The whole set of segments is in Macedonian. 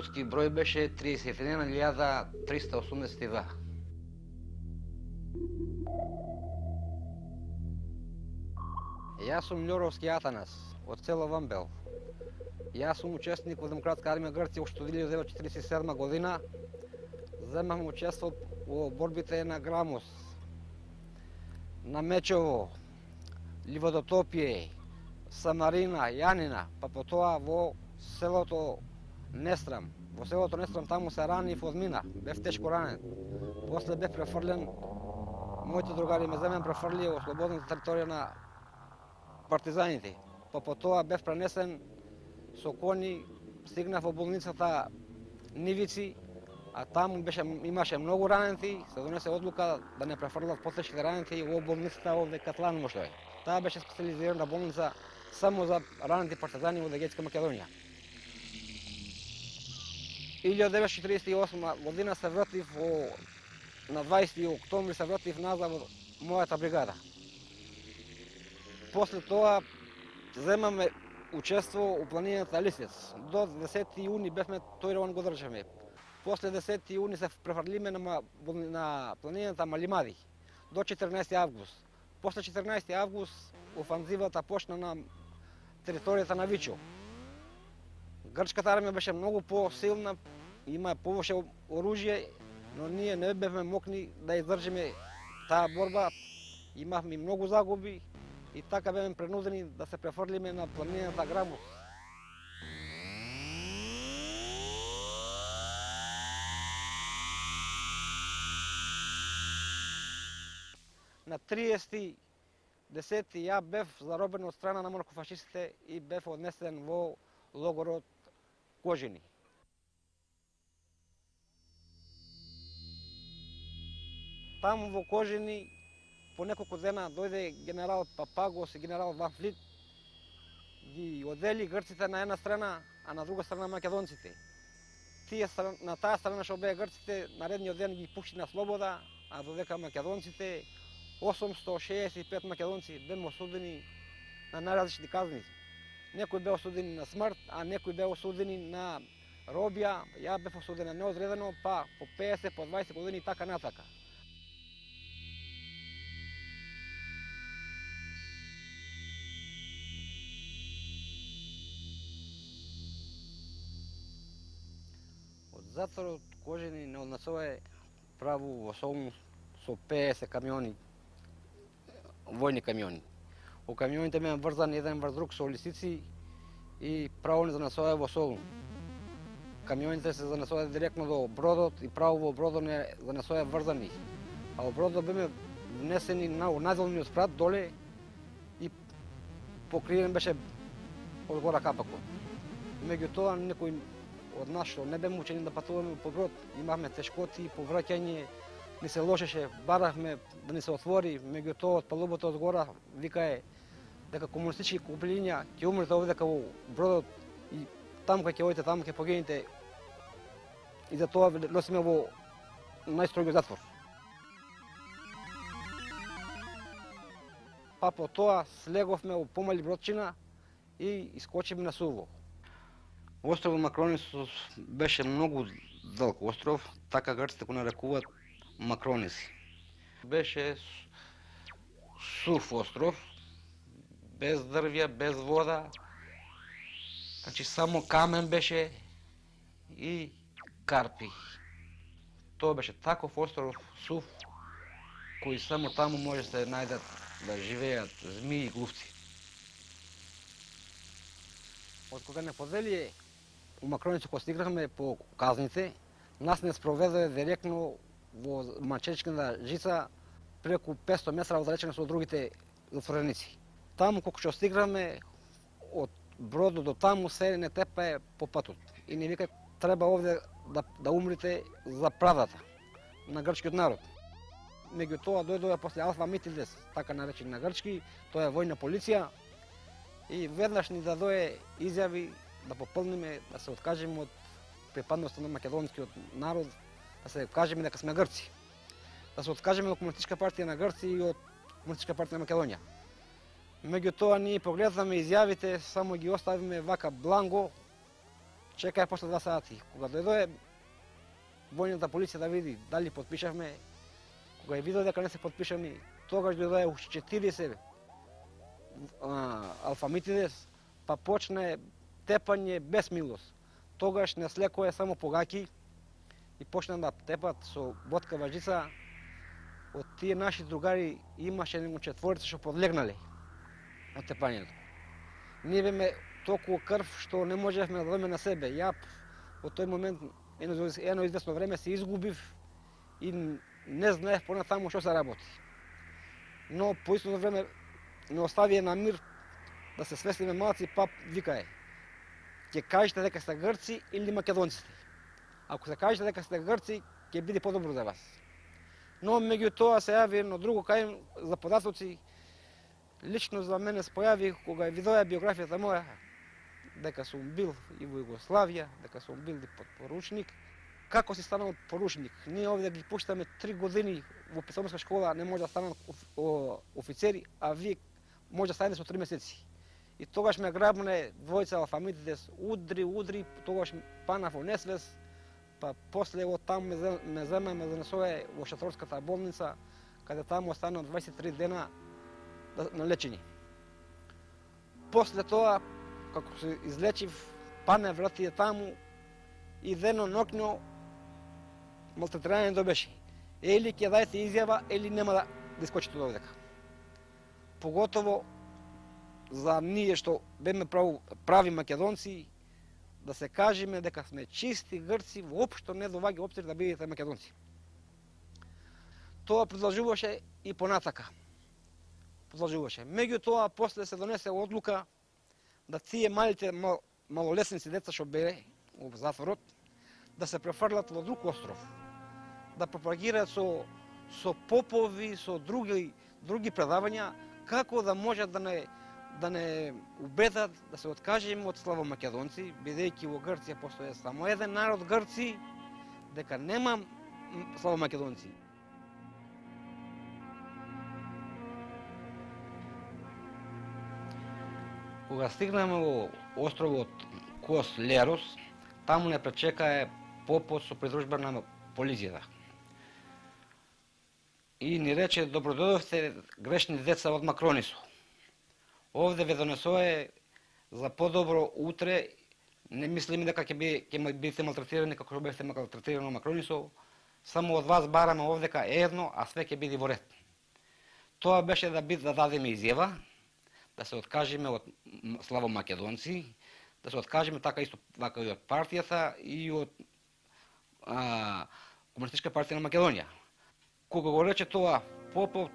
борски број беше 31.382. Јас сум Љоровски Атанас, од село Вамбел. Јас сум учесник во Демократска армија Грција уште од 1947 година. Земам учество во борбите на Грамос, на Мечево, Ливодотопје, Самарина, Јанина, па потоа во селото Нестрам. Во селото Нестрам таму се ранив од мина, бев тешко ранен. После бев префрлен, моите другари ме земен префрли во слободната територија на партизаните. Па потоа бев пренесен со кони, стигнав во болницата Нивици, а таму имаше многу ранети, се донесе одлука да не префрлат потешките ранети во болницата овде Катланово што е. Таа беше специализирана болница само за ранети партизани во Егејска Македонија. 1948 година се вратив на 20 октомври се вратив назад во мојата бригада. После тоа земаме учество у планината Лисец. До 10 јуни бевме тој го држаме. После 10 јуни се префрлиме на планината Малимади до 14 август. После 14 август офанзивата почна на територијата на Вичо. Грчката армија беше многу посилна, има повеќе оружје, но ние не бевме мокни да издржиме таа борба. Имавме многу загуби и така бевме принудени да се префрлиме на планината Грамос. На 30.10. ја бев заробен од страна на монархофашистите и бев однесен во логорот Кожини. Таму во Кожини по неколку дена дојде генерал Папагос и генерал Ван Флит, ги одели грците на една страна, а на друга страна македонците. На таа страна што беа грците, наредниот ден ги пушти на слобода, а додека македонците 865 македонци беа осудени на најразлични казни. Некои беа осудени на смрт, а некои беа осудени на робија. Ја бев осуден на неодредено, па по 50, по 20 години и така натака. Од затворот Кожини не однесува праву во Солун со 50 камиони, војни камиони. Во камионите беа врзани еден врз друг со лисици и право не занесува во Солун. Камионите се занесува директно до бродот и право во бродот не занесува врзани. А во бродот беме внесени на најдолниот спрат доле и покриен беше од гора капакот. Меѓутоа некои од нас што не беме учени да патуваме по брод, имавме тешкоти по враќање, ни се лошеше, баравме да ни се отвори, меѓутоа од палубата од гора викае дека комунистички купелиња ќе умрете овде во бродот и таму кај ќе одите, таму ќе погинете. И за тоа носиме во најстрогиот затвор. Па по тоа слеговме во помали бродчина и искочиме на Суво. Островот Макронисус беше многу далек остров, така грците го нарекуваат Макрониси. Беше сув остров, без дрвја, без вода, значи само камен беше и карпи. Тоа беше таков остров сув, кој само таму може се најдат да живеат змии и глувци. Од кога не поделие у Макрониси кога стигнахме по казните, нас не спроведе директно во мачечката жица преку 500 метра оддалечено со другите затвореници. Таму кога што стигнахме од бродот до таму се не тепае по патот. И не вика треба овде да умрите за правдата на грчкиот народ. Меѓутоа дојдоа после Алфа Митилдес, така наречени на грчки, тоа е војна полиција и веднаш ни дадое изјави да пополниме, да се откажеме од припадноста на македонскиот народ, да се кажеме дека сме грци. Да се откажеме од Комунистичка партија на Грција и од Комунистичка партија на Македонија. Меѓутоа ние погледнаме изјавите, само ги оставиме вака бланго, чекај после 2 сати. Кога дојде војната полиција да види дали потпишавме, кога ја видел дека не се потпишани, тогаш дојде уште 40 алфамитидес, па почне тепање без милост. Тогаш не слекоe само погаки и почна да тепат со боткава жица. Од тие наши другари имаше нему 4 што подлегнале на тепањето. Ние беме толку крв што не можевме да дадеме на себе. Ја во тој момент едно известно време се изгубив и не знаев понатаму што се работи. Но по истото време не оставија на мир да се свестиме малци, па викае: ќе кажете дека сте грци или македонците. Ако се кажете дека сте грци, ќе биде подобро за вас. Но меѓутоа се јави едно друго кај за податоци. Лично за мене се појави кога видоја биографијата моја, дека сум бил и во Југославија, дека сум бил и подпоручник. Како си станал поручник? Ние овде ги пуштаме 3 години во писарска школа, не може да станат офицери, а вие може да станете со 3 месеци. И тогаш ме грабне двојца алфамитите, удри, тогаш панав во несвес, па после од таму ме зема ме занесоe во Шаторската болница, каде таму останав 23 дена на лечење. После тоа, како се излечив, пане вратија таму и дено ноќно малтретирање беше. Или ќе дајте изјава, или нема да искочите од овдека. Поготово за ние што беме прави македонци, да се кажеме дека сме чисти грци, воопшто не доваѓа обцир да бидете македонци. Тоа продолжуваше и понатака. Меѓутоа, после се донесе одлука да тие малите малолесници деца што беа во затворот, да се префрлат во друг остров, да пропагираат со попови, со други предавања, како да можат да не убедат да се откажеме од славомакедонци, бидејќи во Грција постои само еден народ грци, дека нема славомакедонци. Кога стигнаме во островот Кос Лерос, таму не пречекае попот со придружба на полицијата. И ни рече: добродојдовте грешни деца од Макронисо. Овде ве донесоe за подобро утре, не мислиме дека ќе бидете малтретирани како што бевте малтретирани во Макронисо, само од вас бараме овдека едно, а све ќе биде во ред. Тоа беше да дадеме изјава, да се откажеме од славомакедонци, да се откажеме така исто и од партијата и од Комунистичка партија на Македонија. Кога го рече тоа Попов,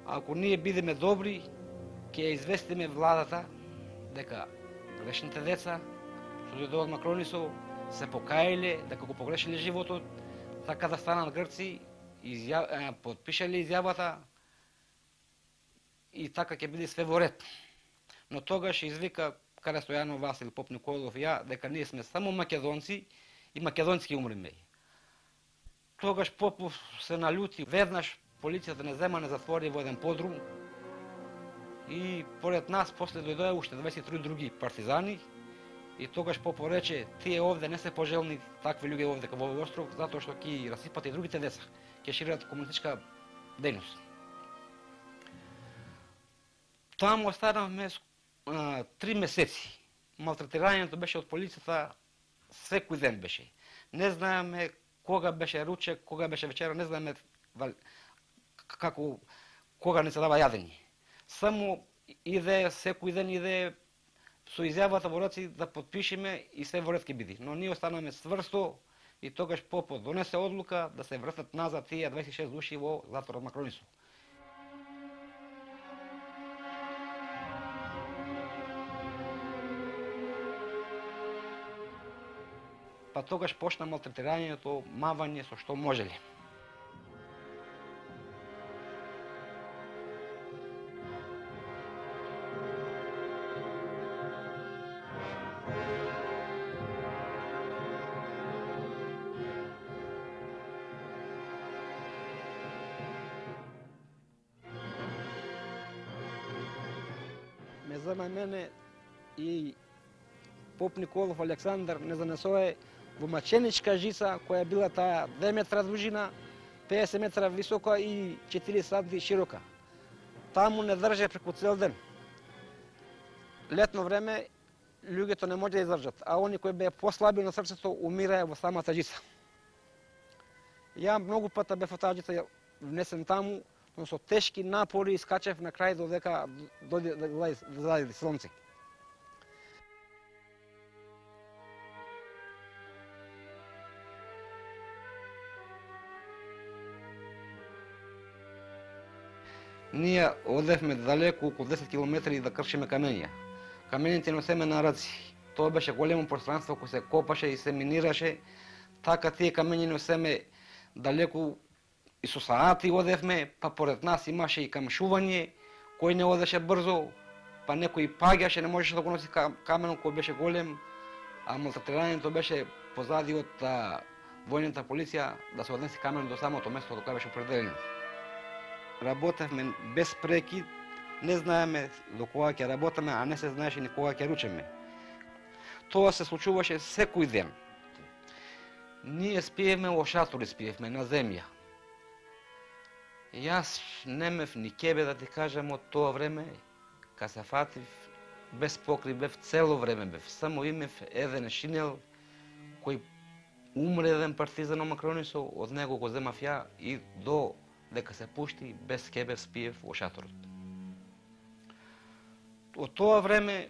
ако ние бидеме добри, ќе известиме владата дека грешните деца што дојдоа од Макронисо се покаиле дека го погрешиле животот, така да станат грци, подпишале изјавата и така ќе биде све во ред. Но тогаш извика Кара Стојанов, Васил Поп Николов и ја дека ние сме само македонци и македонски умреме. Тогаш Попов се налјути, веднаш полицијата не зема, не затвори во еден подрум и поред нас после дојдоа уште 23 други партизани и тогаш Попов рече: тие овде не се пожелни такви луѓе овде во овој остров, затоа што ќе расипат и другите деца, ќе шират комунистичка дејност. Таму останавме 3 месеци. Малтретирањето беше од полицијата секој ден беше. Не знаеме кога беше ручек, кога беше вечера, не знаеме кога не се дава јадење. Само иде, секој ден иде со изјавата во раци да подпишеме и се во ред ќе биде. Но ние останаме стврсто и тогаш Попов донесе одлука да се вратат назад тие 26 души во затворот Макронисо. Па тогаш почна малтретирањето, мавање со што можеле. Ме зема мене и Поп Николов Александар не занесое во маченичка жица, која била таа 2 метра дужина, 50 метра висока и 4 сади широка. Таму не држе преку цел ден. Летно време луѓето не може да издржат, а они кои беа послаби на срцето умираа во самата жица. Ја многу пата бев во таа жица внесен таму, но со тешки напори искачев на крај додека зајде сонце. Ние одевме далеку, околу 10 километри да кршиме камења. Камењите носеме на раци. Тоа беше големо пространство кој се копаше и се минираше. Така тие камењи носеме далеку и со саати одевме, па поред нас имаше и камшување, кој не одеше брзо, па некој паѓаше, не можеше да го носи каменот кој беше голем, а малтретирањето беше позади од војната полиција да се однесе каменот до самото место до кај беше определено. Работевме без прекид, не знаеме до кога ќе работиме, а не се знаеше ни кога ќе ручеме. Тоа се случуваше секој ден. Ние спиевме во шатори, спиевме на земја. Јас немев ни кебе да ти кажам од тоа време, кога се фатив, без покрив бев цело време бев. Само имев еден шинел кој умре еден партизан омакронисо, од него го земав ја и до дека се пушти, без кебе спиев во шаторот. Од тоа време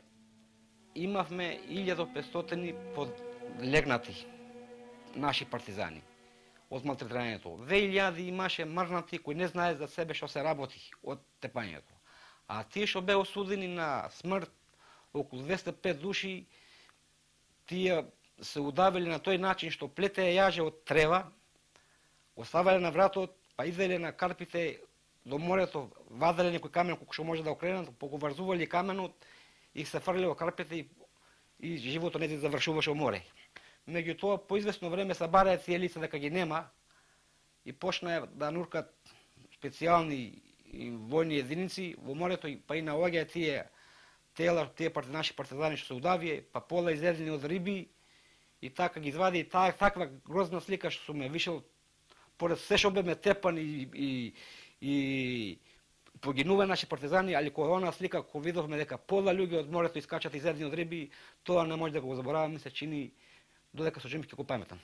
имавме 1500 подлегнати наши партизани од малтретирањето. 2000 имаше мрзнати кои не знае за себе што се работи од тепањето. А тие што беа осудени на смрт, околу 205 души, тие се удавили на тој начин што плетеа јаже од трева, го ставале на вратот, па изеле на карпите до морето, ваделе некој камен колку што може да окренат, поговрзували каменот и се фрле во карпите и животот не завршуваше во море. Меѓутоа, по известно време се бараја тие лица дека ги нема и почнаа да нуркат специјални војни единици во морето, па и наоѓаја тие тела, тие наши партизани што се удавија, па пола изедени од риби и така ги извади таква грозна слика што сум ме вишел поред се што беме тепани и погинува наши партизани, али која онаа слика кој видовме дека пола луѓе од морето искачат изедени од риби, тоа не може да го забораваме, се чини додека со живи ќе го паметам.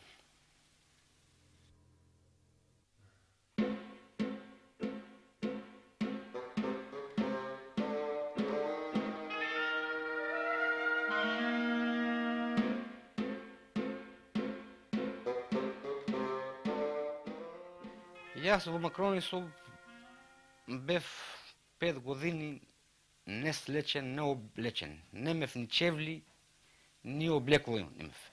Јас во Макронисо бев 5 години не слечен, не облечен. Немев ни чевли, ни облекло немев.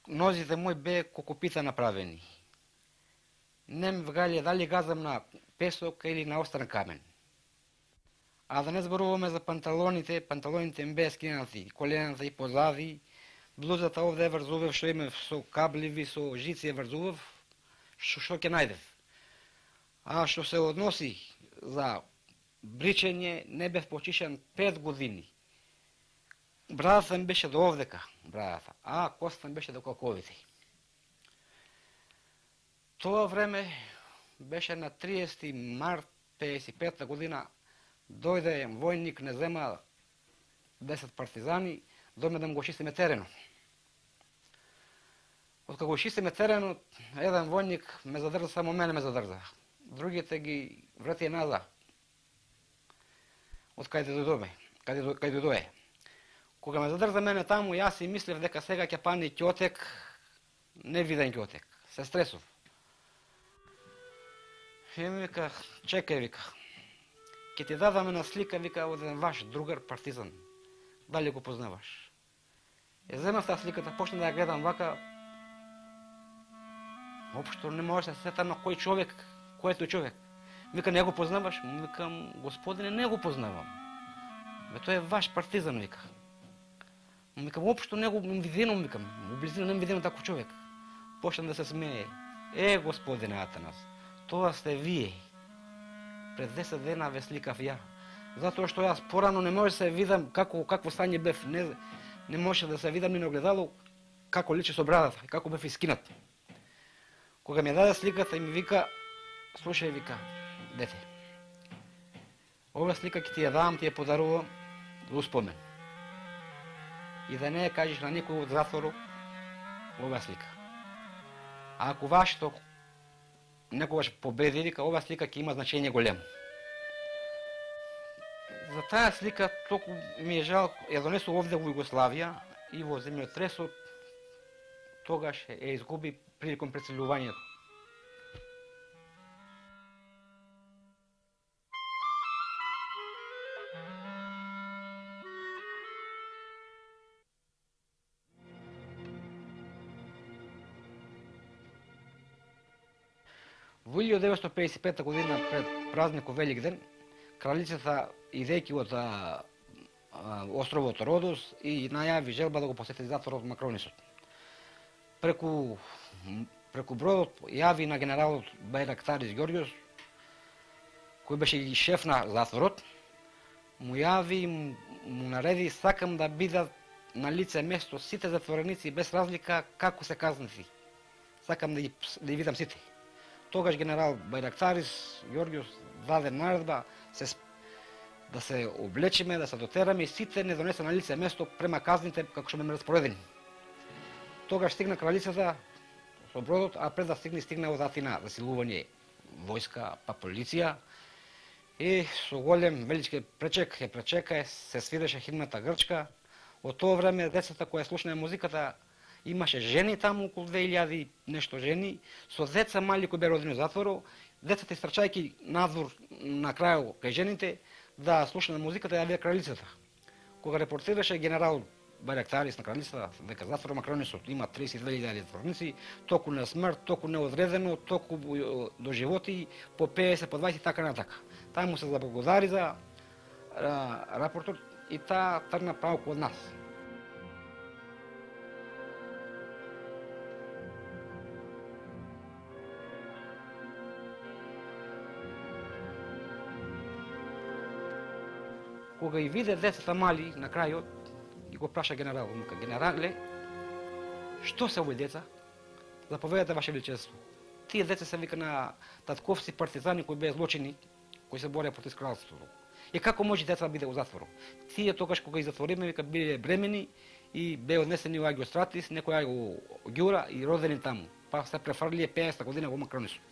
Нозите мои бе кокопита направени. Немев галија дали газам на песок или на остран камен. А да не зборуваме за панталоните, панталоните им беа скинати, колената и позади, блузата овде е врзував, што имев со кабливи, со жици е врзував, што ќе најдев. А што се односи за бричење, не бев почишан 5 години. Брадата ми беше до овдека, брадата, а костата ми беше до колковите. Тоа време беше на 30 март 55 година, дојде војник, не зема 10 партизани, дојме да му го чистиме теренот. Откако го чистиме теренот, еден војник ме задржа, само мене ме задржа. Другите ги врати назад. Од каде дојде. Кога ме задржа мене таму, јас си мислев дека сега ќе пани ќотек, не виден ќотек. Се стресов. И ми вика, чекај, вика. Ќе ти дадам една слика, вика, од еден ваш другар партизан. Дали го познаваш? Земав таа сликата, почна да ја гледам вака. Општо не може да се сетам на кој човек, кој е тој човек. Вика, не го познаваш? Викам, господине, не го познавам. Тој е ваш партизан, вика. Викам, општо не го виденам, викам. У близина не виденам таков човек. Почна да се смее. Господине Атанас, тоа сте вие. Пред 10 дена ве сликав ја. Затоа што јас порано не може да се видам какво стање бев. не може да се видам ни на огледало како личи со брадата и како бев искинат. Кога ми даде сликата и ми вика, слушај, вика, дете, ова слика ќе ти ја давам, ти ја подарувам за успомен. И да не ја кажеш на никој од затворот ова слика. А ако вашето некогаш победи, вика, ова слика ќе има значење големо. За таа слика толку ми е жал, ја донесу овде во Југославија и во земјотресот тогаш ја изгуби приликом преселувањето. Во 1955 година пред празникот Великден, кралицата идејќи од островот Родос и најави желба да го посети затворот Макронисот. Преку бродот јави на генералот Байрактарис Ѓорѓос, кој беше и шеф на затворот, му јави и му нареди, сакам да бидат на лице место сите затвореници без разлика како се казнати. Сакам да ги видам сите. Тогаш генерал Байрактарис Ѓорѓос даде наредба да се облечеме, да се дотераме и сите не донесе на лице место према казните како што ме распоредени. Тогаш стигна кралицата со бродот, а пред да стигна од Атина засилување војска, па полиција и со голем велички пречек ја пречека, се свиреше химната грчка. Од тоа време децата кои слушнаа музиката, имаше жени таму, околу 2000 и нешто жени, со деца мали кои беа родени во затворот, децата истрчајќи надвор на крајот кај жените, да слушнаа музиката ја вија кралицата. Кога репортираше генерал Байрактарис на кралицата, дека затворот Макронисот има 32.000 затворници, току на смрт, току неодредено, току до животи, по 50, по 20 и така натака. Таа му се заблагодари за рапортот и таа тргна право од нас. Кога и виде децата мали на крајот, и го праша генерал, вика, генерале, што се овој деца? Заповедате, Ваше Величество. Тие деца се вика на татковци партизани кои беа злочини, кои се бореа против кралството. И како може деца да биде во затворот? Тие тогаш кога ги затвориме, вика, биле бремени и беа однесени во Агиостратис, некој го ѓура и родени таму. Па се префрлија 50 година во Макронисот.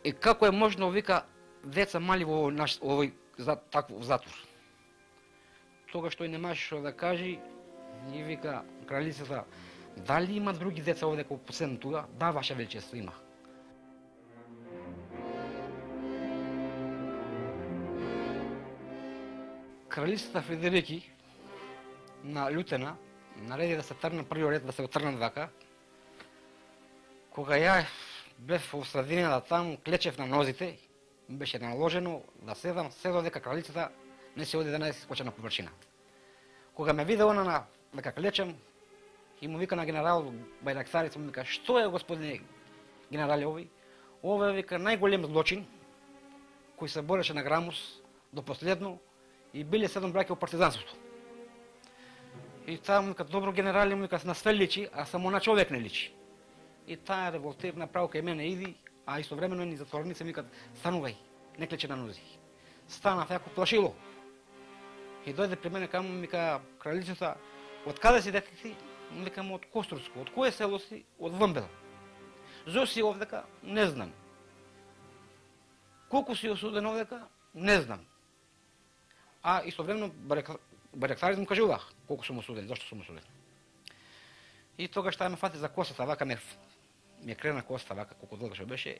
И како е можно, вика, деца мали во овој таков затвор? Тогаш тој не можеше што да каже и вика кралицата, дали има други деца овде како последно тука? Да, Ваше Величество, има. Кралицата Фредерики на лютена нареди да се тргне првиот ред, да се отргнат вака. Кога ја бев во средината таму, клечев на нозите, ми беше наложено да седам, се додека кралицата не се оди да не се скоча на површина. Кога ме виде она дека клечем, и му вика на генерал Байрактарис, му вика, што е, господине генерале, овој? Ова е, вика, најголем злочин кој се бореше на Грамус до последно и биле 7 браќа во партизанството. И таа му вика, добро генерале, му вика, на све личи, а само на човек не личи. И таа револтир направо кај мене иди, а истовремено ни затворници ми викат, станувај, не клече на нози. Станав јако плашило. И дојде при мене каму, ми вика, кралицата, од каде си, дека ти? Ми викам, од Коструско. Од кое село си? Од Вмбел. Зо си овдека? Не знам. Колку си осуден овдека? Не знам. А истовремено Байрактарис му кажува колку сум осуден, зашто сум осуден. И тогаш таа ме фати за косата, вака ми крена косата, вака колку долга што беше,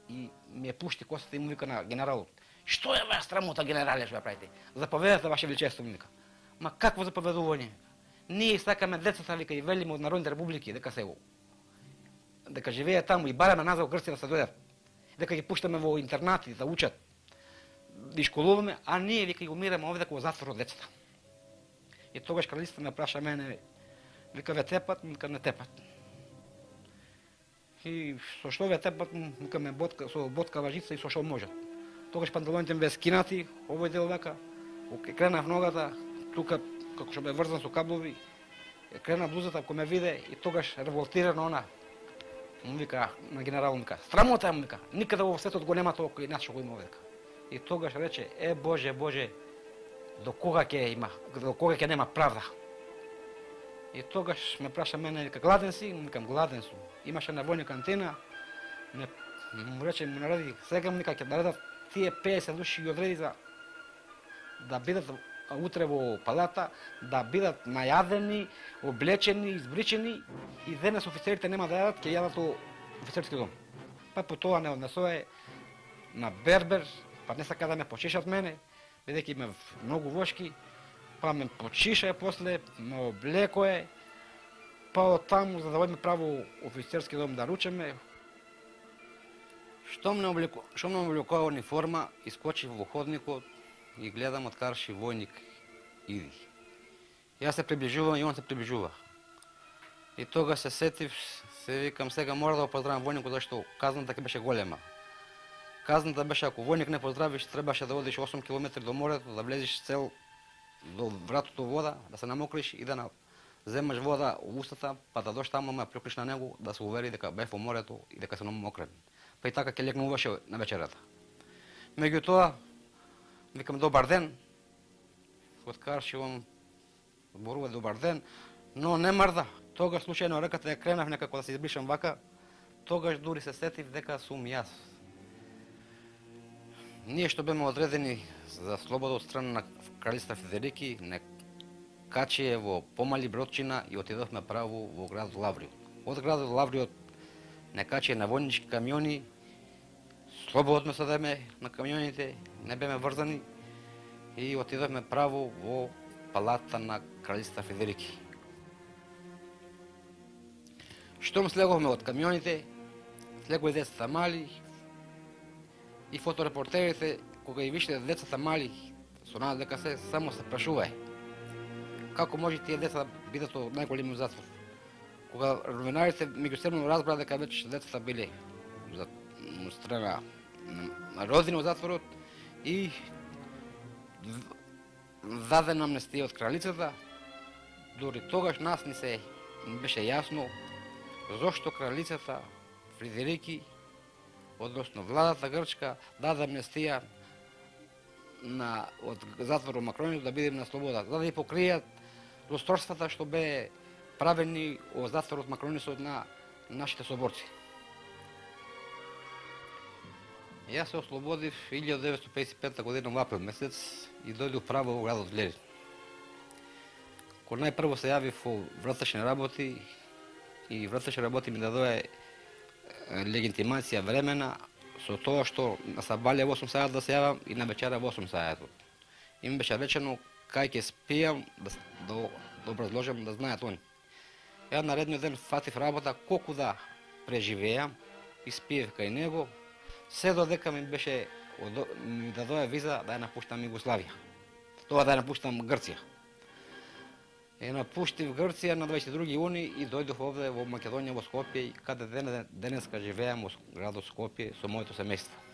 и ми пушти косата и му вика на генералот, што е ваа срамота, генерале, што ја правите? Заповедате, Ваше Величество, ми вика. Ма какво заповедување? Ние сакаме децата, вика, и велиме од народните републики, дека живеат таму и бараме назад во Грција да се дојдат, дека ги пуштаме во интернати да учат, да школуваме, а ние, вика, ги умираме овде во затворот децата. И тогаш кралицата ме праша мене, вика, ве тепат, вика, не тепат. И со што ве тепат, вика, ме со боткава жица и со што можат. Тогаш панталоните ми бе скинати, овој дел вака, кренав ногата, тука како што бе врзан со каблови, крена блузата, кој ме виде и тогаш револтирано она. Му вика на генерал, му вика, срамота, му вика, никаде во светот го нема тоа кој нас што го има овде. И тогаш рече, Боже, Боже, до кога ќе нема правда? И тогаш ме праша мене, вика, гладен си? Му викам, гладен сум. Имаше на војна кантина, му рече, му нареди, сега му вика, ќе наредат тие 50 души ги одреди за да бидат утре во палата, да бидат најадени, облечени, избричени и денес офицерите нема да јадат, ќе јадат во офицерски дом. Па по тоа не однесое на бербер, па не сака да ме почешат мене, бидејќи ме многу вошки, па ме почиша после, ме облекое, па од таму за да одиме право офицерски дом да ручеме. Штом не облекува униформа, искочив во ходникот и гледам од карши војник иди. Јас се приближувам и он се приближува. И тога се сетив, се викам сега мора да го поздравам војникот зашто казната ќе беше голема. Казната беше ако војник не поздравиш, требаше да одиш 8 км до морето, да влезеш цел до вратото вода, да се намокриш и да земаш вода во устата, па да дош таму ме прикриш на него, да се увери дека бев во морето и дека се намокрен. Па и така ќе легнуваше на вечерата. Меѓутоа, викам добар ден, откаршивам, зборува добар ден, но не мрда. Тогаш случајно реката ја кренав некако да се избришам вака, тогаш дури се сетив дека сум јас. Ние што беме одредени за слобода од страна на кралица Федерики, не качие во помали бродчина и отидовме право во град Лавриот. Од градот Лавриот не качие на војнички камиони, слободно седеме на камионите, не беме врзани и отидовме право во палата на кралица Федерики. Штом слеговме од камионите, слегови децата мали и фоторепортерите, кога ги више децата мали, со надеж дека се само се прашуваe како може тие деца да бидат од најголемиот затвор. Кога новинарите меѓусебно разбраа дека веќе децата биле за страна на родини од затворот и дадена амнестија од кралицата, дури тогаш нас ни се беше јасно зошто кралицата Фредерики, односно владата грчка, даде амнестија од затворот Макрониот да бидеме на слобода, за да ја покријат злосторствата што бе правени од затворот Макронисот на нашите соборци. Јас се ослободив 1955 година во април месец и дојдов право во градот Лерин. Кога најпрво се јавив во вратешни работи и вратешни работи ми дадоe легитимација времена со тоа што на сабале во 8 саат да се јавам и на вечера во 8 саат. Им беше речено кај ќе спијам да образложам да знаат они. Ја наредниот ден фатив работа колку да преживеам и спиев кај него, се додека ми дадоe виза да ја напуштам Југославија. Тоа да ја напуштам Грција. Ја напуштив Грција на 22 јуни и дојдов овде во Македонија во Скопје, каде денеска живеам во градот Скопје со моето семејство.